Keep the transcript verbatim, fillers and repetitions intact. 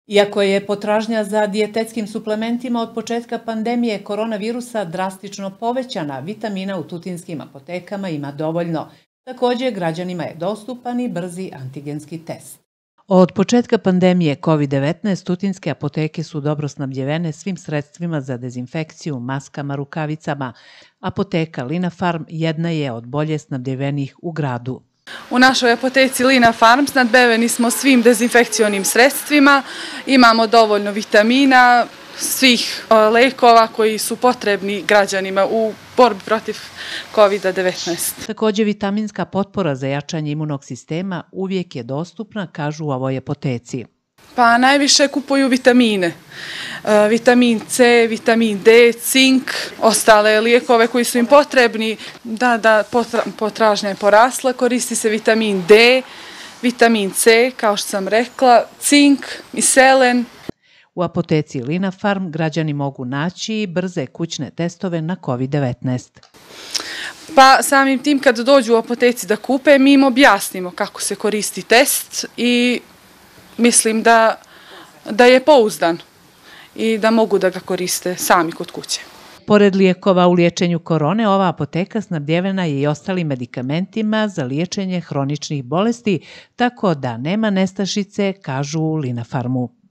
Iako je potražnja za dijetetskim suplementima od početka pandemije koronavirusa drastično povećana, vitamina u tutinskim apotekama ima dovoljno. Također, građanima je dostupan i brzi antigenski test. Od početka pandemije kovid devetnaest tutinske apoteke su dobro snabdjevene svim sredstvima za dezinfekciju, maskama, rukavicama. Apoteka Lina Farm jedna je od bolje snabdjevenih u gradu. U našoj apoteci Lina Farm snadbeveni smo svim dezinfekcionim sredstvima, imamo dovoljno vitamina, svih lekova koji su potrebni građanima u borbi protiv kovid devetnaest. Također, vitaminska potpora za jačanje imunog sistema uvijek je dostupna, kažu u ovoj apoteci. Pa najviše kupuju vitamine. Vitamin C, vitamin D, cink, ostale lijekove koji su im potrebni. Da, da, potražnja je porasla, koristi se vitamin D, vitamin C, kao što sam rekla, cink i selen. U apoteci Lina Farm građani mogu naći brze kućne testove na kovid devetnaest. Pa samim tim kad dođu u apoteci da kupe, mi im objasnimo kako se koristi test i mislim da, da je pouzdan i da mogu da ga koriste sami kod kuće. Pored lijekova u liječenju korone, ova apoteka snabdjevena je i ostalim medikamentima za liječenje hroničnih bolesti, tako da nema nestašice, kažu u Lina Farmu.